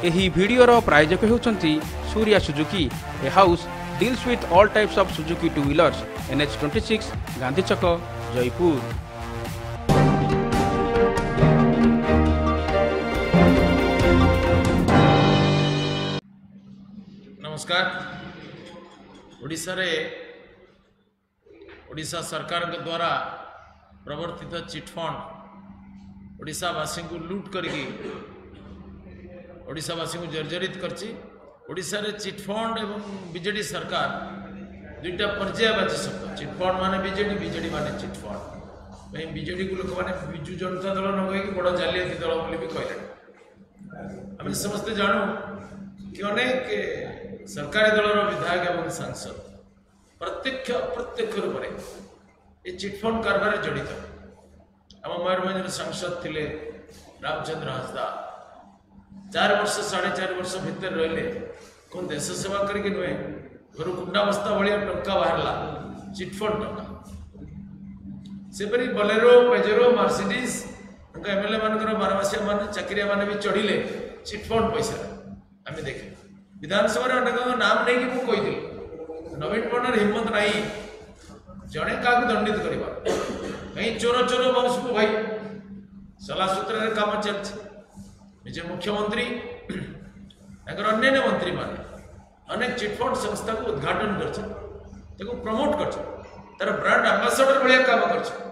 ଏହି ଭିଡ଼ିଓର ପ୍ରାୟୋଜକ ହେଉଛନ୍ତି Surya Suzuki, a house deals with all types of Suzuki two wheelers, NH 26, Gandhi Chhak, Jaipur. ନମସ୍କାର। ଓଡ଼ିଶାରେ ଓଡ଼ିଶା ସରକାରଙ୍କ ଦ୍ୱାରା ପ୍ରବର୍ତ୍ତିତ ଚିଟଫଣ୍ଡ ଓଡ଼ିଶାବାସୀଙ୍କୁ ଲୁଟ୍ କରିକି ଓଡ଼ିଶାବାସୀଙ୍କୁ ଜର୍ଜରିତ କରିଛି। ଓଡ଼ିଶାରେ ଚିଟଫଣ୍ଡ ଏବଂ ବିଜେଡ଼ି ସରକାର ଦୁଇଟା ପର୍ଯ୍ୟାୟବାଚୀ ଶବ୍ଦ। ଚିଟଫଣ୍ଡ ମାନେ ବିଜେଡ଼ି, ବିଜେଡ଼ି ମାନେ ଚିଟଫଣ୍ଡ। ପାଇଁ ବିଜେଡ଼ିକୁ ଲୋକମାନେ ବିଜୁ ଜନତା ଦଳ ନ କହିକି ବଡ଼ ଜାଲିଆତି ଦଳ ବୋଲି ବି କହିଲେଣି। ଆମେ ସମସ୍ତେ ଜାଣୁ କି ଅନେକ ସରକାରୀ ଦଳର ବିଧାୟକ ଏବଂ ସାଂସଦ ପ୍ରତ୍ୟକ୍ଷ ଅପ୍ରତ୍ୟକ୍ଷ ରୂପରେ ଏ ଚିଟଫଣ୍ଡ କାରବାରରେ ଜଡ଼ିତ। ଆମ ମୟୂରଭଞ୍ଜର ସାଂସଦ ଥିଲେ ରାମଚନ୍ଦ୍ର ହାଁସଦା, 4 ବର୍ଷ, 4.5 ବର୍ଷ ଭିତରେ ରହିଲେ। କ'ଣ ଦେଶ ସେବା କରିକି ନୁହେଁ, ଘରୁ କୁଣ୍ଡା ବସ୍ତା ଭଳିଆ ଟଙ୍କା ବାହାରିଲା, ଚିଟଫଣ୍ଡ ଟଙ୍କା। ସେପରି ବଲେରୋ, ପେଜେରୋ, ମାର୍ସିଡିସ୍ ତାଙ୍କ ଏମଏଲଏ ମାନଙ୍କର ବାରମାସିଆ ମାନେ, ଚାକିରିଆ ମାନେ ବି ଚଢ଼ିଲେ ଚିଟଫଣ୍ଡ ପଇସାରେ। ଆମେ ଦେଖିଲୁ, ବିଧାନସଭାରେ ଅନେକଙ୍କ ନାମ ନେଇକି ମୁଁ କହିଥିଲି, ନବୀନ ପଟ୍ଟନାୟକ ହିମ୍ମତ ନାହିଁ ଜଣେ କାହାକୁ ଦଣ୍ଡିତ କରିବା। କାହିଁ ଚୋର ଚୋର ବଂଶକୁ ଭାଇ ସଲାସୂତ୍ରରେ କାମ ଚାଲିଛି। ନିଜେ ମୁଖ୍ୟମନ୍ତ୍ରୀ, ତାଙ୍କର ଅନ୍ୟାନ୍ୟ ମନ୍ତ୍ରୀମାନେ ଅନେକ ଚିଟଫଣ୍ଡ ସଂସ୍ଥାକୁ ଉଦ୍ଘାଟନ କରିଛନ୍ତି, ତାକୁ ପ୍ରମୋଟ କରିଛନ୍ତି, ତାର ବ୍ରାଣ୍ଡ ଆମ୍ବାସଡର ଭଳିଆ କାମ କରିଛନ୍ତି।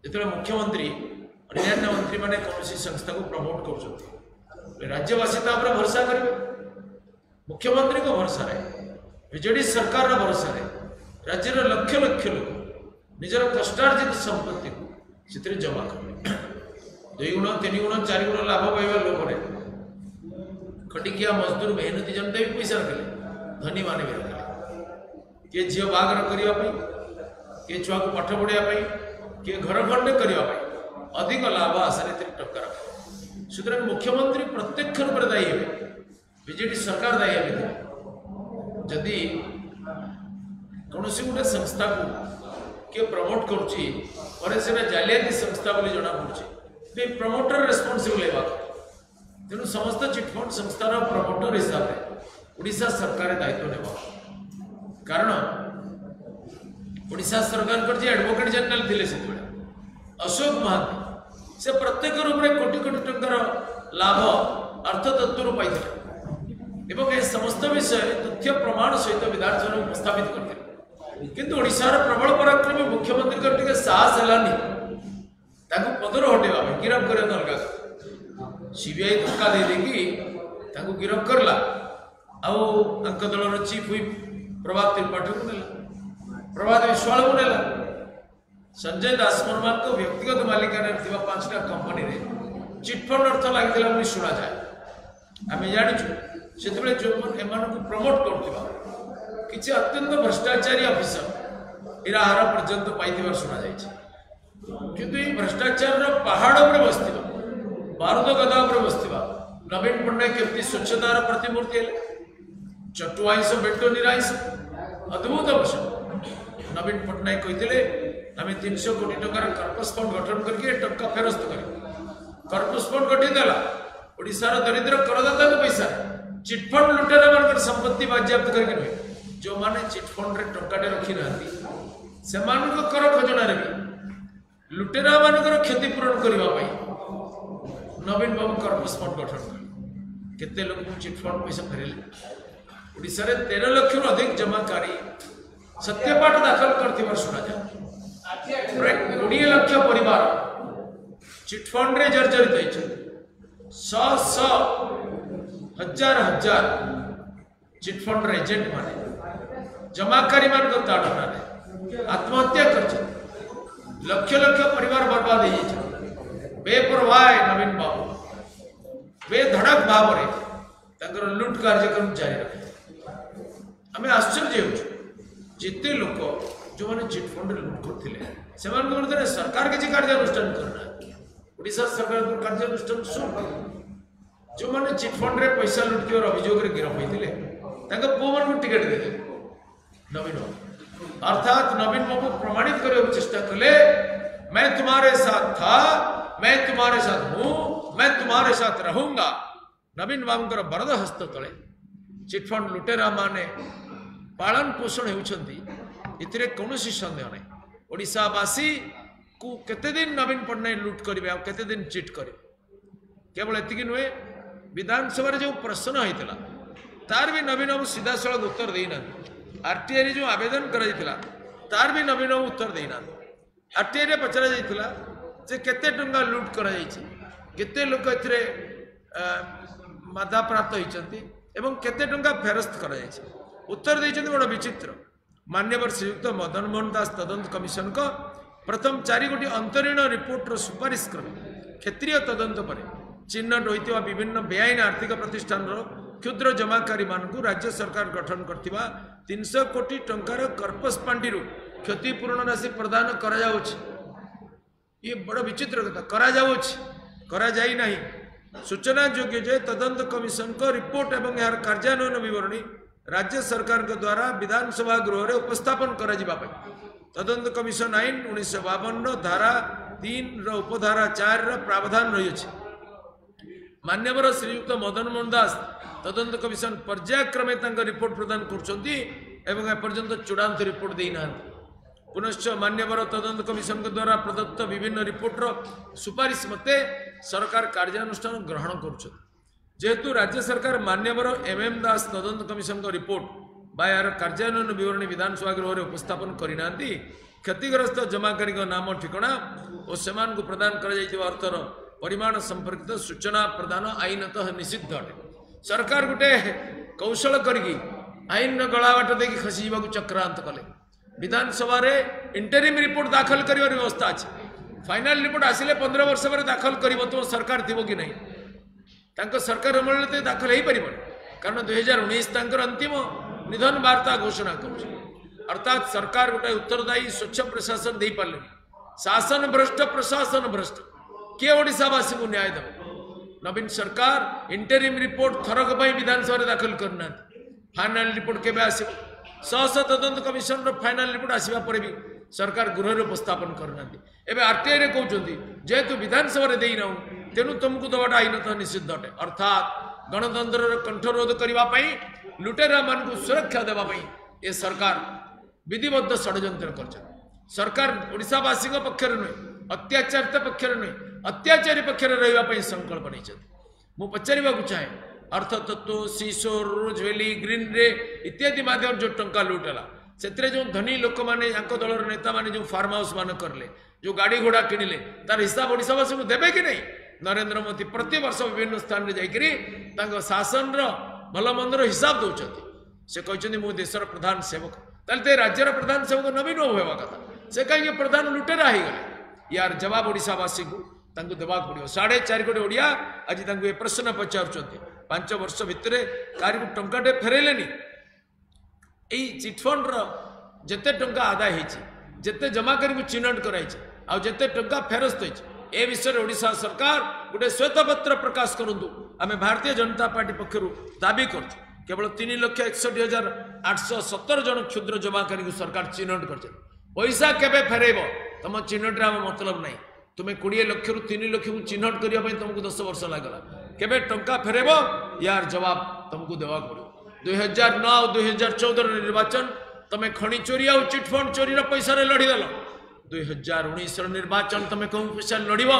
ଯେତେବେଳେ ମୁଖ୍ୟମନ୍ତ୍ରୀ, ଅନ୍ୟାନ୍ୟ ମନ୍ତ୍ରୀମାନେ କୌଣସି ସଂସ୍ଥାକୁ ପ୍ରମୋଟ କରୁଛନ୍ତି, ରାଜ୍ୟବାସୀ ତା ଉପରେ ଭରସା କରିବେ। ମୁଖ୍ୟମନ୍ତ୍ରୀଙ୍କ ଭରସାରେ, ବିଜେଡି ସରକାରର ଭରସାରେ ରାଜ୍ୟର ଲକ୍ଷ ଲକ୍ଷ ଲୋକ ନିଜର କଷ୍ଟାର୍ଜିତ ସମ୍ପତ୍ତିକୁ ସେଥିରେ ଜମା କଲେ। 2 ଗୁଣ, 3 ଗୁଣ, 4 ଗୁଣ ଲାଭ ପାଇବା ଲୋଭରେ ଖଟିକିଆ ମଜଦୁର, ମେହନତି ଜନତା ବି ପଇସା ରଖିଲେ, ଧନୀମାନେ ବି ରଖିଲେ। କିଏ ଝିଅ ବାହାଘର କରିବା ପାଇଁ, କିଏ ଛୁଆକୁ ପାଠ ପଢ଼ିବା ପାଇଁ, କିଏ ଘର ଖଣ୍ଡେ କରିବା ପାଇଁ ଅଧିକ ଲାଭ ଆଶାରେ ଏଥିରେ ଟଙ୍କା ରଖିଲେ। ସୁତରାଂ ମୁଖ୍ୟମନ୍ତ୍ରୀ ପ୍ରତ୍ୟକ୍ଷ ରୂପରେ ଦାୟୀ ହେବେ, ବିଜେଡି ସରକାର ଦାୟୀ ହେବେ। ଯଦି କୌଣସି ଗୋଟେ ସଂସ୍ଥାକୁ କିଏ ପ୍ରମୋଟ କରୁଛି, ପରେ ସେଟା ଜାଲିଆତି ସଂସ୍ଥା ବୋଲି ଜଣାପଡ଼ୁଛି, ତ ଏ ପ୍ରମୋଟର ରେସ୍ପନ୍ସିବଲ୍ ହେବା କଥା। ତେଣୁ ସମସ୍ତ ଚିଟଫଣ୍ଡ ସଂସ୍ଥାର ପ୍ରମୋଟର ହିସାବରେ ଓଡ଼ିଶା ସରକାର ଦାୟିତ୍ୱ ନେବ। କାରଣ ଓଡ଼ିଶା ସରକାରଙ୍କର ଯିଏ ଆଡଭୋକେଟ୍ ଜେନେରାଲ ଥିଲେ ସେତେବେଳେ ଅଶୋକ ମହାନ୍ତି, ସେ ପ୍ରତ୍ୟକ୍ଷ ରୂପରେ କୋଟି କୋଟି ଟଙ୍କାର ଲାଭ ଅର୍ଥତତ୍ତ୍ୱରୁ ପାଇଥିଲେ ଏବଂ ଏ ସମସ୍ତ ବିଷୟରେ ତଥ୍ୟ ପ୍ରମାଣ ସହିତ ବିଧାନସଭାରେ ଉପସ୍ଥାପିତ କରିଥିଲେ। କିନ୍ତୁ ଓଡ଼ିଶାର ପ୍ରବଳ ପରାକ୍ରମୀ ମୁଖ୍ୟମନ୍ତ୍ରୀଙ୍କର ଟିକେ ସାହସ ହେଲାନି ତାଙ୍କୁ ପଦରୁ ହଟେଇବା ପାଇଁ। ଗିରଫ କରିବା ତ ଅଲଗା କଥା। ସିବିଆଇ ଧକ୍କା ଦେଇ ଦେଇକି ତାଙ୍କୁ ଗିରଫ କରିଲା ଆଉ ତାଙ୍କ ଦଳର ଚିଫ୍ ହୁଇପ୍ ପ୍ରଭାତ ତ୍ରିପାଠୀକୁ ନେଲା, ପ୍ରଭାତ ବିଶ୍ୱାଳକୁ ନେଲା। ସଞ୍ଜୟ ଦାସବର୍ମାଙ୍କ ବ୍ୟକ୍ତିଗତ ମାଲିକାନାରେ ଥିବା 5ଟା କମ୍ପାନୀରେ ଚିଟଫଣ୍ଡ ଅର୍ଥ ଲାଗିଥିଲା ବୋଲି ଶୁଣାଯାଏ। ଆମେ ଜାଣିଛୁ, ସେତେବେଳେ ଯେଉଁମାନେ ଏମାନଙ୍କୁ ପ୍ରମୋଟ କରୁଥିବା କିଛି ଅତ୍ୟନ୍ତ ଭ୍ରଷ୍ଟାଚାରୀ ଅଫିସର ହୀରାହାର ପର୍ଯ୍ୟନ୍ତ ପାଇଥିବାର ଶୁଣାଯାଇଛି। କିନ୍ତୁ ଏଇ ଭ୍ରଷ୍ଟାଚାରର ପାହାଡ଼ ଉପରେ ବସିଥିବା, ବାରୁଦ ଗଦା ଉପରେ ବସିଥିବା ନବୀନ ପଟ୍ଟନାୟକ କେମିତି ସ୍ୱଚ୍ଛତାର ପ୍ରତିମୂର୍ତ୍ତି ହେଲେ? ଚଟୁ ଆଇଁଷ ବେଟ ନିରାଇଁଷ, ଅଦ୍ଭୁତ ପ୍ରସଙ୍ଗ। ନବୀନ ପଟ୍ଟନାୟକ କହିଥିଲେ, ଆମେ 300 କୋଟି ଟଙ୍କାର କର୍ପସ୍ ଫଣ୍ଡ ଗଠନ କରିକି ଏ ଟଙ୍କା ଫେରସ୍ତ କରିବୁ। କର୍ପସ୍ ଫଣ୍ଡ ଗଠିତ ହେଲା ଓଡ଼ିଶାର ଦରିଦ୍ର କରଦାତାଙ୍କ ପଇସାରେ, ଚିଟଫଣ୍ଡ ଲୁଟେରାମାନଙ୍କର ସମ୍ପତ୍ତି ବାଜ୍ୟାପ୍ତ କରିକି ନୁହେଁ। ଯେଉଁମାନେ ଚିଟଫଣ୍ଡରେ ଟଙ୍କାଟେ ରଖିନାହାନ୍ତି, ସେମାନଙ୍କ କର ଖଜଣାରେ ବି ଲୁଟେରାମାନଙ୍କର କ୍ଷତିପୂରଣ କରିବା ପାଇଁ ନବୀନ ବାବୁ କର୍ପସ୍ ଫଣ୍ଡ ଗଠନ କଲେ। କେତେ ଲୋକଙ୍କୁ ଚିଟଫଣ୍ଡ ପଇସା ଫେରିଲେ? ଓଡ଼ିଶାରେ 13 ଲକ୍ଷରୁ ଅଧିକ ଜମାକାରୀ ସତ୍ୟପାଠ ଦାଖଲ କରିଥିବାର ଶୁଣାଯାଏ। ପ୍ରାୟ 20 ଲକ୍ଷ ପରିବାର ଚିଟଫଣ୍ଡରେ ଜର୍ଜରିତ ହେଇଛନ୍ତି। ଶହ ଶହ, ହଜାର ହଜାର ଚିଟଫଣ୍ଡର ଏଜେଣ୍ଟ ମାନେ ଜମାକାରୀମାନଙ୍କ ତାଡ଼ନାରେ ଆତ୍ମହତ୍ୟା କରିଛନ୍ତି। ଲକ୍ଷ ଲକ୍ଷ ପରିବାର ବର୍ବାଦ ହେଇଯାଇଛନ୍ତି। ବେପରୱାହ ନବୀନ ବାବୁ ବେଧଡ଼କ ଭାବରେ ତାଙ୍କର ଲୁଟ୍ କାର୍ଯ୍ୟକ୍ରମ ଜାରି ରଖିଥିଲେ। ଆମେ ଆଶ୍ଚର୍ଯ୍ୟ ହେଉଛୁ, ଯେତେ ଲୋକ ଯେଉଁମାନେ ଚିଟଫଣ୍ଡରେ ଲୁଟ୍ କରୁଥିଲେ, ସେମାନଙ୍କ ବିରୁଦ୍ଧରେ ସରକାର କିଛି କାର୍ଯ୍ୟାନୁଷ୍ଠାନ କରୁନାହାନ୍ତି। ଓଡ଼ିଶା ସରକାରଙ୍କ କାର୍ଯ୍ୟାନୁଷ୍ଠାନ ଶୂନ। ଯେଉଁମାନେ ଚିଟଫଣ୍ଡରେ ପଇସା ଲୁଟିଥିବାର ଅଭିଯୋଗରେ ଗିରଫ ହୋଇଥିଲେ, ତାଙ୍କ ପୁଅମାନଙ୍କୁ ଟିକେଟ୍ ଦେଇଦେଲେ ନବୀନ ବାବୁ। ଅର୍ଥାତ୍ ନବୀନ ବାବୁ ପ୍ରମାଣିତ କରିବାକୁ ଚେଷ୍ଟା କଲେ, मैं तुम्हारे साथ था, मैं तुम्हारे साथ हूं, मैं तुम्हारे साथ रहूंगा। ନବୀନ ବାବୁଙ୍କର ବରଦ ହସ୍ତ ତଳେ ଚିଟଫଣ୍ଡ ଲୁଟେରାମାନେ ପାଳନ ପୋଷଣ ହେଉଛନ୍ତି, ଏଥିରେ କୌଣସି ସନ୍ଦେହ ନାହିଁ। ଓଡ଼ିଶାବାସୀକୁ କେତେଦିନ ନବୀନ ପଟ୍ଟନାୟକ ଲୁଟ୍ କରିବେ ଆଉ କେତେଦିନ ଚିଟ୍ କରିବେ? କେବଳ ଏତିକି ନୁହେଁ, ବିଧାନସଭାରେ ଯେଉଁ ପ୍ରଶ୍ନ ହେଇଥିଲା ତାର ବି ନବୀନ ବାବୁ ସିଧାସଳଖ ଉତ୍ତର ଦେଇନାହାନ୍ତି। ଆରଟିଆଇରେ ଯେଉଁ ଆବେଦନ କରାଯାଇଥିଲା ତାର ବି ନବୀନ ବାବୁ ଉତ୍ତର ଦେଇନାହାନ୍ତି। ଆରଟିଆଇରେ ପଚରାଯାଇଥିଲା ଯେ କେତେ ଟଙ୍କା ଲୁଟ୍ କରାଯାଇଛି, କେତେ ଲୋକ ଏଥିରେ ବାଧାପ୍ରାପ୍ତ ହୋଇଛନ୍ତି ଏବଂ କେତେ ଟଙ୍କା ଫେରସ୍ତ କରାଯାଇଛି। ଉତ୍ତର ଦେଇଛନ୍ତି ବଡ଼ ବିଚିତ୍ର। ମାନ୍ୟବର ଶ୍ରୀଯୁକ୍ତ ମଦନ ମୋହନ ଦାସ ତଦନ୍ତ କମିଶନଙ୍କ ପ୍ରଥମ 4 ଗୋଟି ଅନ୍ତରୀଣ ରିପୋର୍ଟର ସୁପାରିଶ କ୍ରମେ କ୍ଷେତ୍ରୀୟ ତଦନ୍ତ ପରେ ଚିହ୍ନଟ ହୋଇଥିବା ବିଭିନ୍ନ ବେଆଇନ ଆର୍ଥିକ ପ୍ରତିଷ୍ଠାନର କ୍ଷୁଦ୍ର ଜମାକାରୀମାନଙ୍କୁ ରାଜ୍ୟ ସରକାର ଗଠନ କରିଥିବା 300 କୋଟି ଟଙ୍କାର କର୍ପସ ପାଣ୍ଠିରୁ କ୍ଷତିପୂରଣ ରାଶି ପ୍ରଦାନ କରାଯାଉଛି। ଇଏ ବଡ଼ ବିଚିତ୍ର କଥା, କରାଯାଉଛି, କରାଯାଇ ନାହିଁ। ସୂଚନାଯୋଗ୍ୟ ଯେ ତଦନ୍ତ କମିଶନଙ୍କ ରିପୋର୍ଟ ଏବଂ ଏହାର କାର୍ଯ୍ୟାନ୍ୱୟନ ବିବରଣୀ ରାଜ୍ୟ ସରକାରଙ୍କ ଦ୍ୱାରା ବିଧାନସଭା ଗୃହରେ ଉପସ୍ଥାପନ କରାଯିବା ପାଇଁ ତଦନ୍ତ କମିଶନ ଆଇନ 1952 ଧାରା 3ର ଉପଧାରା 4ର ପ୍ରାବଧାନ ରହିଅଛି। ମାନ୍ୟବର ଶ୍ରୀଯୁକ୍ତ ମଦନ ମୋହନ ଦାସ ତଦନ୍ତ କମିଶନ ପର୍ଯ୍ୟାୟକ୍ରମେ ତାଙ୍କ ରିପୋର୍ଟ ପ୍ରଦାନ କରୁଛନ୍ତି ଏବଂ ଏପର୍ଯ୍ୟନ୍ତ ଚୂଡ଼ାନ୍ତ ରିପୋର୍ଟ ଦେଇନାହାନ୍ତି। ପୁନଶ୍ଚ ମାନ୍ୟବର ତଦନ୍ତ କମିଶନଙ୍କ ଦ୍ୱାରା ପ୍ରଦତ୍ତ ବିଭିନ୍ନ ରିପୋର୍ଟର ସୁପାରିଶ ମତେ ସରକାର କାର୍ଯ୍ୟାନୁଷ୍ଠାନ ଗ୍ରହଣ କରୁଛନ୍ତି। ଯେହେତୁ ରାଜ୍ୟ ସରକାର ମାନ୍ୟବର ଏମ୍ ଏମ୍ ଦାସ ତଦନ୍ତ କମିଶନଙ୍କ ରିପୋର୍ଟ ବା ଏହାର କାର୍ଯ୍ୟାନ୍ୱୟନ ବିବରଣୀ ବିଧାନସଭା ଗୃହରେ ଉପସ୍ଥାପନ କରିନାହାନ୍ତି, କ୍ଷତିଗ୍ରସ୍ତ ଜମାକାରୀଙ୍କ ନାମ, ଠିକଣା ଓ ସେମାନଙ୍କୁ ପ୍ରଦାନ କରାଯାଇଥିବା ଅର୍ଥର ପରିମାଣ ସମ୍ପର୍କିତ ସୂଚନା ପ୍ରଦାନ ଆଇନତଃ ନିଷିଦ୍ଧ ଅଟେ। ସରକାର ଗୋଟେ କୌଶଳ କରିକି ଆଇନର ଗଳାବାଟ ଦେଇକି ଖସିଯିବାକୁ ଚକ୍ରାନ୍ତ କଲେ। ବିଧାନସଭାରେ ଇଣ୍ଟରିମ୍ ରିପୋର୍ଟ ଦାଖଲ କରିବାର ବ୍ୟବସ୍ଥା ଅଛି। ଫାଇନାଲ ରିପୋର୍ଟ ଆସିଲେ 15 ବର୍ଷ ପରେ ଦାଖଲ କରିବ, ତୁମ ସରକାର ଥିବ କି ନାହିଁ? ତାଙ୍କ ସରକାର ଅମଳରେ ତ ଦାଖଲ ହେଇପାରିବନି, କାରଣ 2019 ତାଙ୍କର ଅନ୍ତିମ ନିଧନ ବାର୍ତ୍ତା ଘୋଷଣା କରୁଛି। ଅର୍ଥାତ୍ ସରକାର ଗୋଟାଏ ଉତ୍ତରଦାୟୀ ସ୍ୱଚ୍ଛ ପ୍ରଶାସନ ଦେଇପାରିଲେନି। ଶାସନ ଭ୍ରଷ୍ଟ, ପ୍ରଶାସନ ଭ୍ରଷ୍ଟ, କିଏ ଓଡ଼ିଶାବାସୀଙ୍କୁ ନ୍ୟାୟ ଦେବ? ନବୀନ ସରକାର ଇଣ୍ଟରିମ୍ ରିପୋର୍ଟ ଥରକ ପାଇଁ ବିଧାନସଭାରେ ଦାଖଲ କରିନାହାନ୍ତି। ଫାଇନାଲ ରିପୋର୍ଟ କେବେ ଆସିବ? ଶହ ଶହ ତଦନ୍ତ କମିଶନର ଫାଇନାଲ ରିପୋର୍ଟ ଆସିବା ପରେ ବି ସରକାର ଗୃହରେ ଉପସ୍ଥାପନ କରିନାହାନ୍ତି। ଏବେ ଆରଟିଆଇରେ କହୁଛନ୍ତି ଯେହେତୁ ବିଧାନସଭାରେ ଦେଇନାହୁଁ ତେଣୁ ତୁମକୁ ଦେବାଟା ଆଇନତଃ ନିଷିଦ୍ଧ ଅଟେ। ଅର୍ଥାତ୍ ଗଣତନ୍ତ୍ରର କଣ୍ଠରୋଧ କରିବା ପାଇଁ, ଲୁଟେରାମାନଙ୍କୁ ସୁରକ୍ଷା ଦେବା ପାଇଁ ଏ ସରକାର ବିଧିବଦ୍ଧ ଷଡ଼ଯନ୍ତ୍ର କରିଛନ୍ତି। ସରକାର ଓଡ଼ିଶାବାସୀଙ୍କ ପକ୍ଷରେ ନୁହେଁ, ଅତ୍ୟାଚାରିତ ପକ୍ଷରେ ନୁହେଁ, ଅତ୍ୟାଚାରୀ ପକ୍ଷରେ ରହିବା ପାଇଁ ସଂକଳ୍ପ ନେଇଛନ୍ତି। ମୁଁ ପଚାରିବାକୁ ଚାହେଁ, ଅର୍ଥତତ୍ତ୍ୱ, ସିସୋର, ରୋଜଭ୍ୟାଲି, ଗ୍ରୀନରେ ଇତ୍ୟାଦି ମାଧ୍ୟମରେ ଯେଉଁ ଟଙ୍କା ଲୁଟ୍ ହେଲା, ସେଥିରେ ଯେଉଁ ଧନୀ ଲୋକମାନେ, ୟାଙ୍କ ଦଳର ନେତାମାନେ ଯେଉଁ ଫାର୍ମ ହାଉସ୍ ମାନ କରିଲେ, ଯେଉଁ ଗାଡ଼ି ଘୋଡ଼ା କିଣିଲେ, ତାର ହିସାବ ଓଡ଼ିଶାବାସୀଙ୍କୁ ଦେବେ କି ନାହିଁ? ନରେନ୍ଦ୍ର ମୋଦି ପ୍ରତିବର୍ଷ ବିଭିନ୍ନ ସ୍ଥାନରେ ଯାଇକରି ତାଙ୍କ ଶାସନର ଭଲ ମନ୍ଦର ହିସାବ ଦେଉଛନ୍ତି। ସେ କହିଛନ୍ତି ମୁଁ ଦେଶର ପ୍ରଧାନ ସେବକ। ତାହେଲେ ତ ରାଜ୍ୟର ପ୍ରଧାନ ସେବକ ନବୀନ ବାବୁ ହେବା କଥା, ସେ କାହିଁକି ପ୍ରଧାନ ଲୁଟେରା ହେଇଗଲେ? ୟାର ଜବାବ ଓଡ଼ିଶାବାସୀଙ୍କୁ ତାଙ୍କୁ ଦେବାକୁ ପଡ଼ିବ। 4.5 କୋଟି ଓଡ଼ିଆ ଆଜି ତାଙ୍କୁ ଏ ପ୍ରଶ୍ନ ପଚାରୁଛନ୍ତି। 5 ବର୍ଷ ଭିତରେ କାହାରିକୁ ଟଙ୍କାଟେ ଫେରାଇଲେନି। ଏଇ ଚିଟଫଣ୍ଡର ଯେତେ ଟଙ୍କା ଆଦାୟ ହେଇଛି, ଯେତେ ଜମାକାରୀଙ୍କୁ ଚିହ୍ନଟ କରାଯାଇଛି, ଆଉ ଯେତେ ଟଙ୍କା ଫେରସ୍ତ ହେଇଛି, ଏ ବିଷୟରେ ଓଡ଼ିଶା ସରକାର ଗୋଟେ ଶ୍ୱେତପତ୍ର ପ୍ରକାଶ କରନ୍ତୁ। ଆମେ ଭାରତୀୟ ଜନତା ପାର୍ଟି ପକ୍ଷରୁ ଦାବି କରୁଛୁ। କେବଳ 3,61,817 ଜଣ କ୍ଷୁଦ୍ର ଜମାକାରୀଙ୍କୁ ସରକାର ଚିହ୍ନଟ କରିଛନ୍ତି। ପଇସା କେବେ ଫେରାଇବ ତମ ଚିହ୍ନଟରେ ଆମ ମତଲବ ନାହିଁ। ତୁମେ 20 ଲକ୍ଷରୁ 3 ଲକ୍ଷକୁ ଚିହ୍ନଟ କରିବା ପାଇଁ ତୁମକୁ 10 ବର୍ଷ ଲାଗିଲା। କେବେ ଟଙ୍କା ଫେରାଇବ ୟାର ଜବାବ ତୁମକୁ ଦେବାକୁ ପଡ଼ିବ। 2009 ଆଉ 2014 ନିର୍ବାଚନ ତମେ ଖଣି ଚୋରି ଆଉ ଚିଟଫଣ୍ଡ ଚୋରିର ପଇସାରେ ଲଢ଼ିଦେଲ। 2019 ନିର୍ବାଚନ ତମେ କେଉଁ ପଇସାରେ ଲଢ଼ିବ?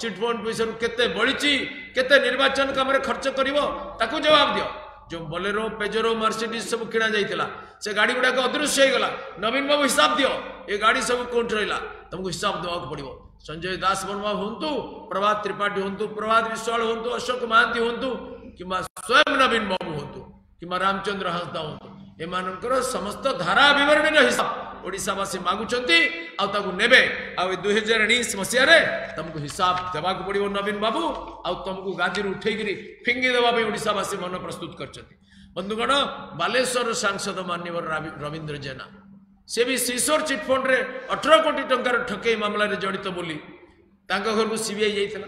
ଚିଟଫଣ୍ଡ ପଇସାରୁ କେତେ ବଳିଛି, କେତେ ନିର୍ବାଚନ କାମରେ ଖର୍ଚ୍ଚ କରିବ, ତାକୁ ଜବାବ ଦିଅ। ଯେଉଁ ବୋଲେରୋ, ପେଜରୋ, ମର୍ସିଡିଜ୍ ସବୁ କିଣା ଯାଇଥିଲା, ସେ ଗାଡ଼ି ଗୁଡ଼ାକ ଅଦୃଶ୍ୟ ହେଇଗଲା। ନବୀନ ବାବୁ ହିସାବ ଦିଅ, ଏ ଗାଡ଼ି ସବୁ କେଉଁଠି ରହିଲା? ତମକୁ ହିସାବ ଦେବାକୁ ପଡ଼ିବ। ସଞ୍ଜୟ ଦାସ ବର୍ମା ହୁଅନ୍ତୁ, ପ୍ରଭାତ ତ୍ରିପାଠୀ ହୁଅନ୍ତୁ, ପ୍ରଭାତ ବିଶ୍ୱାଳ ହୁଅନ୍ତୁ, ଅଶୋକ ମହାନ୍ତି ହୁଅନ୍ତୁ, କିମ୍ବା ସ୍ୱୟଂ ନବୀନ ବାବୁ ହୁଅନ୍ତୁ, କିମ୍ବା ରାମଚନ୍ଦ୍ର ହାଁସଦା ହୁଅନ୍ତୁ, ଏମାନଙ୍କର ସମସ୍ତ ଧାରା ବିବରଣୀର ହିସାବ ଓଡ଼ିଶାବାସୀ ମାଗୁଛନ୍ତି ଆଉ ତାକୁ ନେବେ। ଆଉ ଏ 2019 ମସିହାରେ ତମକୁ ହିସାବ ଦେବାକୁ ପଡ଼ିବ ନବୀନ ବାବୁ, ଆଉ ତମକୁ ଗାଦିରୁ ଉଠେଇକିରି ଫିଙ୍ଗି ଦେବା ପାଇଁ ଓଡ଼ିଶାବାସୀ ମନ ପ୍ରସ୍ତୁତ କରିଛନ୍ତି। ବନ୍ଧୁଗଣ, ବାଲେଶ୍ୱରର ସାଂସଦ ମାନ୍ୟବର ରବୀନ୍ଦ୍ର ଜେନା, ସେ ବି ସିସୋର ଚିଟଫଣ୍ଡରେ 18 କୋଟି ଟଙ୍କାର ଠକେଇ ମାମଲାରେ ଜଡ଼ିତ ବୋଲି ତାଙ୍କ ଘରକୁ ସିବିଆଇ ଯାଇଥିଲା।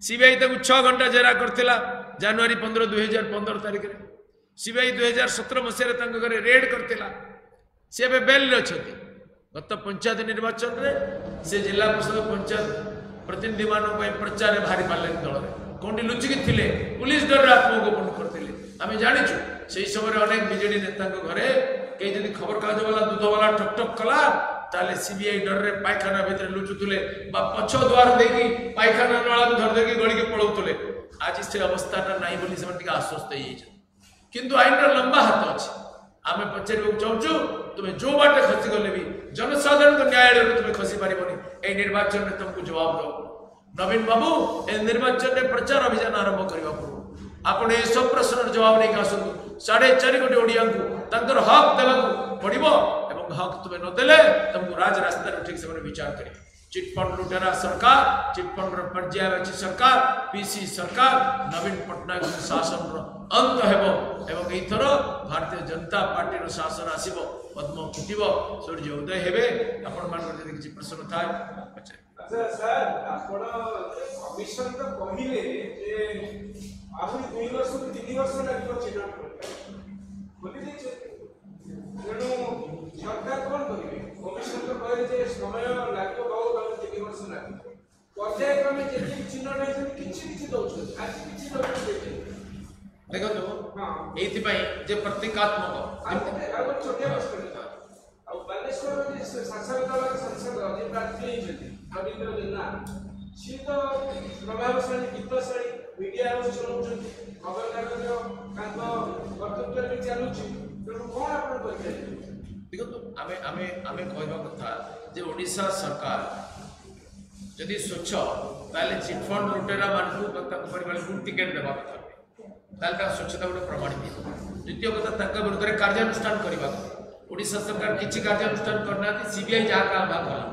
ସିବିଆଇ ତାକୁ 6 ଘଣ୍ଟା ଜେରା କରିଥିଲା ଜାନୁଆରୀ 15 2015 ତାରିଖରେ। ସିବିଆଇ 2017 ମସିହାରେ ତାଙ୍କ ଘରେ ରେଡ୍ କରିଥିଲା। ସେ ଏବେ ବେଲ୍ରେ ଅଛନ୍ତି। ଗତ ପଞ୍ଚାୟତ ନିର୍ବାଚନରେ ସେ ଜିଲ୍ଲା ପରିଷଦ ପଞ୍ଚାୟତ ପ୍ରତିନିଧିମାନଙ୍କ ପାଇଁ ପ୍ରଚାରରେ ବାହାରି ପାରିଲେନି ଦଳରେ। କେଉଁଠି ଲୁଚିକି ଥିଲେ, ପୁଲିସ ଡରରେ ଆତ୍ମଗୋପନ କରିଥିଲେ। ଆମେ ଜାଣିଛୁ ସେଇ ସମୟରେ ଅନେକ ବିଜେଡି ନେତାଙ୍କ ଘରେ କେହି ଯଦି ଖବରକାଗଜବାଲା ଦୁଧବାଲା ଠକ୍ ଠକ୍ କଲା ତାହେଲେ ସିବିଆଇ ଡରରେ ପାଇଖାନା ଭିତରେ ଲୁଚୁଥିଲେ ବା ପଛ ଦ୍ୱାର ଦେଇକି ପାଇଖାନା ନଳାକୁ ଧରି ଦେଇକି ଗଳିକି ପଳାଉଥିଲେ। ଆଜି ସେ ଅବସ୍ଥାଟା ନାହିଁ ବୋଲି ସେମାନେ ଟିକେ ଆଶ୍ୱସ୍ତ ହେଇଯାଇଛନ୍ତି। କିନ୍ତୁ ଆଇନର ଲମ୍ବା ହାତ ଅଛି। ଆମେ ପଚାରିବାକୁ ଚାହୁଁଛୁ, ତୁମେ ଯୋଉ ବାଟେ ଖସିଗଲେ ବି ଜନସାଧାରଣଙ୍କ ନ୍ୟାୟାଳୟରୁ ତୁମେ ଖସି ପାରିବନି। ଏଇ ନିର୍ବାଚନରେ ତୁମକୁ ଜବାବ ଦେବ। ନବୀନ ବାବୁ ଏ ନିର୍ବାଚନରେ ପ୍ରଚାର ଅଭିଯାନ ଆରମ୍ଭ କରିବା ପୂର୍ବରୁ ଆପଣ ଏସବୁ ପ୍ରଶ୍ନର ଜବାବ ନେଇକି ଆସନ୍ତୁ। 4.5 କୋଟି ଓଡ଼ିଆଙ୍କୁ ତାଙ୍କର ହକ୍ ଦେବାକୁ ପଡ଼ିବ ଏବଂ ହକ୍ ତୁମେ ନଦେଲେ ତୁମକୁ ରାଜରାସ୍ତାରେ ଉଠିକି ସେମାନେ ବିଚାର କରିବେ। ଚିଟଫଣ୍ଡ ଲୁଟେରା ସରକାର, ଚିଟଫଣ୍ଡର ପର୍ଯ୍ୟାୟବାଚୀ ସରକାର, ପିସି ସରକାର, ନବୀନ ପଟ୍ଟନାୟକ ଶାସନର ଅନ୍ତ ହେବ ଏବଂ ଏଇଥର ଭାରତୀୟ ଜନତା ପାର୍ଟିର ଶାସନ ଆସିବ, ପଦ୍ମ ଫୁଟିବ, ସୂର୍ଯ୍ୟ ଉଦୟ ହେବେ। ଆପଣମାନଙ୍କର ଯଦି କିଛି ପ୍ରଶ୍ନ ଥାଏ ପଚାରିବେ। ଆଚ୍ଛା ସାର୍, ଆପଣ କମିଶନ ତ କହିଲେ ଯେ ଆହୁରି 2 ବର୍ଷରୁ 3 ବର୍ଷ ଲାଗିବ ଚିହ୍ନଟ ଖୋଲି ଦେଇଛନ୍ତି, ତେଣୁ ସରକାର କ'ଣ କରିବେ? କମିଶନ ତ କହିଲେ ଯେ ସମୟ ଲାଗିବ ବହୁତ, ଆଉ 3 ବର୍ଷ ଲାଗିବ। ପର୍ଯ୍ୟାୟକ୍ରମେ ଯେତିକି ଚିହ୍ନଟ ହେଇଛନ୍ତି କିଛି କିଛି ଦଉଛନ୍ତି, ଆଜି କିଛି ଲୋକଙ୍କୁ ଦେଇଛନ୍ତି। ଦେଖନ୍ତୁ, ଏଇଥିପାଇଁ ଯେ ପ୍ରତୀକାତ୍ମକ। ଆଉ ଗୋଟେ ଛୋଟିଆ ପ୍ରଶ୍ନ, ଆଉ ବାଲେଶ୍ୱରର ଯେ ଶାସକ ଦଳର ସାଂସଦ ଯିଏ ପ୍ରାର୍ଥୀ ହେଇଛନ୍ତି ରବୀନ୍ଦ୍ର ଜେନା, ସିଏ ତ ପ୍ରଭାବଶାଳୀ, ବିତ୍ତଶାଳୀ, ମିଡିଆ ହାଉସ୍ ଚଲାଉଛନ୍ତି, ଖବରକାଗଜ ତାଙ୍କ କର୍ତ୍ତୃତ୍ୱରେ ବି ଚାଲୁଛି, ତେଣୁ କ'ଣ ଆପଣ କହିପାରିବେ? ଦେଖନ୍ତୁ, ଆମେ ଆମେ ଆମେ କହିବା କଥା ଯେ ଓଡ଼ିଶା ସରକାର ଯଦି ସ୍ୱଚ୍ଛ ତାହେଲେ ଚିଟଫଣ୍ଡ ଲୁଟେରା ମାନଙ୍କୁ ବା ତାଙ୍କ ପରିବାରକୁ ଟିକେଟ୍ ଦେବା କଥା ନୁହେଁ, ତାହେଲେ ତାଙ୍କ ସ୍ୱଚ୍ଛତା ଗୋଟେ ପ୍ରମାଣିତ ହେଇଯିବ। ଦ୍ୱିତୀୟ କଥା, ତାଙ୍କ ବିରୁଦ୍ଧରେ କାର୍ଯ୍ୟାନୁଷ୍ଠାନ କରିବା କଥା। ଓଡ଼ିଶା ସରକାର କିଛି କାର୍ଯ୍ୟାନୁଷ୍ଠାନ କରିନାହାନ୍ତି। ସିବିଆଇ ଯାହା କାମ କଲା,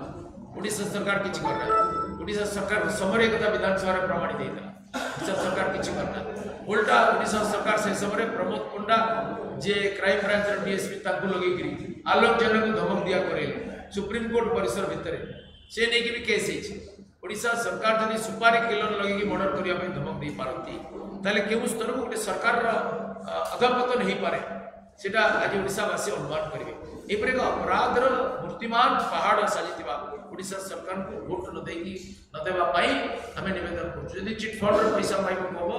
ଓଡ଼ିଶା ସରକାର କିଛି କରିନାହାନ୍ତି। ଓଡ଼ିଶା ସରକାର ସମୟରେ ଏ କଥା ବିଧାନସଭାରେ ପ୍ରମାଣିତ ହେଇଥିଲା। ଓଡ଼ିଶା ସରକାର କିଛି କରିନାହାନ୍ତି। ଓଲଟା ଓଡ଼ିଶା ସରକାର ସେ ସମୟରେ ପ୍ରମୋଦ ପଣ୍ଡା ଯିଏ କ୍ରାଇମ ବ୍ରାଞ୍ଚର ଡିଏସ୍ପି ତାଙ୍କୁ ଲଗେଇକିରି ଆଲୋକ ଜେନାକୁ ଧମକ ଦିଆ କରେଇଲେ ସୁପ୍ରିମକୋର୍ଟ ପରିସର ଭିତରେ, ସେ ନେଇକି ବି କେସ୍ ହେଇଛି। ଓଡ଼ିଶା ସରକାର ଯଦି ସୁପାରି କିଲର ଲଗେଇକି ମର୍ଡର କରିବା ପାଇଁ ଧମକ ଦେଇପାରନ୍ତି, ତାହେଲେ କେଉଁ ସ୍ତରକୁ ଗୋଟେ ସରକାରର ଅଧପତନ ହେଇପାରେ ସେଟା ଆଜି ଓଡ଼ିଶାବାସୀ ଅନୁମାନ କରିବେ। ଏପରି ଏକ ଅପରାଧର ମୂର୍ତ୍ତିମାନ ପାହାଡ଼ ସାଜିଥିବା ଓଡ଼ିଶା ସରକାରଙ୍କୁ ଭୋଟ ନ ଦେଇକି ନଦେବା ପାଇଁ ଆମେ ନିବେଦନ କରୁଛୁ। ଯଦି ଚିଟଫଣ୍ଡର ପଇସା ପାଇବାକୁ ହେବ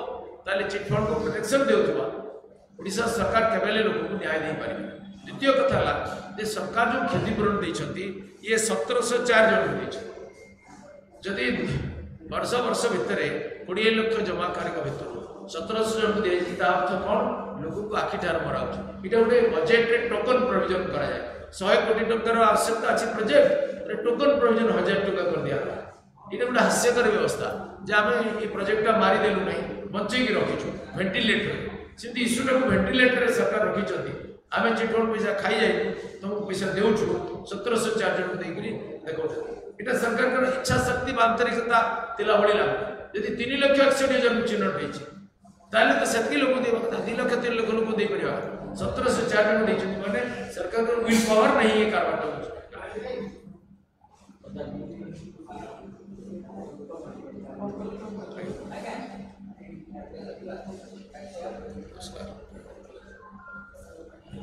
ତାହେଲେ ଚିଟଫଣ୍ଡକୁ ପ୍ରୋଟେକ୍ସନ୍ ଦେଉଥିବା ଓଡ଼ିଶା ସରକାର କେବେ ହେଲେ ଲୋକଙ୍କୁ ନ୍ୟାୟ ଦେଇପାରିବେ। ଦ୍ୱିତୀୟ କଥା ହେଲା ଯେ ସରକାର ଯେଉଁ କ୍ଷତିପୂରଣ ଦେଇଛନ୍ତି ଇଏ 1704 ଜଣଙ୍କୁ ଦେଇଛନ୍ତି। ଯଦି ବର୍ଷ ବର୍ଷ ଭିତରେ 20 ଲକ୍ଷ ଜମାକାରୀଙ୍କ ଭିତରୁ 1700 ଜଣଙ୍କୁ ଦିଆଯାଇଛି, ତା ଅର୍ଥ କ'ଣ? ଲୋକଙ୍କୁ ଆଖିଠାର ମରାଉଛି। ଏଇଟା ଗୋଟେ ବଜେଟରେ ଟୋକନ ପ୍ରୋଭିଜନ କରାଯାଏ। 100 କୋଟି ଟଙ୍କାର ଆବଶ୍ୟକତା ଅଛି ପ୍ରୋଜେକ୍ଟ, ଟୋକନ ପ୍ରୋଭିଜନ 1000 ଟଙ୍କା କରିଦିଆଗଲା। ଏଇଟା ଗୋଟେ ହାସ୍ୟକର ବ୍ୟବସ୍ଥା ଯେ ଆମେ ଏ ପ୍ରୋଜେକ୍ଟଟା ମାରିଦେଲୁ ନାହିଁ, ବଞ୍ଚେଇକି ରଖିଛୁ ଭେଣ୍ଟିଲେଟର। ସେମିତି ଇସ୍ୟୁଟାକୁ ଭେଣ୍ଟିଲେଟରରେ ସରକାର ରଖିଛନ୍ତି। ଆମେ ଚିଟଫଣ୍ଡ ପଇସା ଖାଇଯାଇନୁ, ତୁମକୁ ପଇସା ଦେଉଛୁ, 1704 ଜଣଙ୍କୁ ଦେଇକରି ଦେଖାଉଛନ୍ତି। ଏଇଟା ସରକାରଙ୍କର ଇଚ୍ଛା ଶକ୍ତି ବା ଆନ୍ତରିକତା ଥିଲା ଭଳି ଲାଗୁନି। ଯଦି 3,61,000 ଚିହ୍ନଟ ହେଇଛି ତାହେଲେ ତ ସେତିକି ଲୋକ ଦେବା କଥା, 2 ଲକ୍ଷ 3 ଲକ୍ଷ ଲୋକ ଦେଇପାରିବା। 1704 ଜଣ ଦେଇଛନ୍ତି ମାନେ ସରକାରଙ୍କର will power ନାହିଁ ଏ କାରବାରଟା।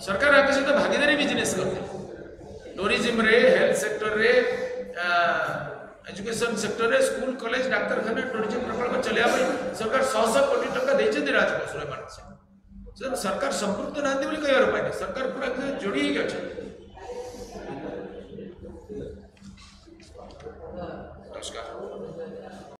ସରକାର ଆଙ୍କ ସହିତ ଭାଗିଦାରୀ ବିଜନେସ୍ କରିଥିଲେ। ଟୁରିଜିମରେ, ହେଲ୍ଥ ସେକ୍ଟରରେ, ଏଜୁକେସନ ସେକ୍ଟରରେ, ସ୍କୁଲ, କଲେଜ, ଡାକ୍ତରଖାନା, ଟୁରିଜିମ ପ୍ରକଳ୍ପ ଚଲେଇବା ପାଇଁ ସରକାର ଶହ ଶହ କୋଟି ଟଙ୍କା ଦେଇଛନ୍ତି ରାଜକୋଷରୁ ଏମାନଙ୍କ ସହିତ। ତେଣୁ ସରକାର ସମ୍ପୃକ୍ତ ନାହାନ୍ତି ବୋଲି କହିବାର ଉପାୟ ନାହିଁ, ସରକାର ପୁରା ଯୋଡ଼ି ହେଇକି ଅଛନ୍ତି। ନମସ୍କାର।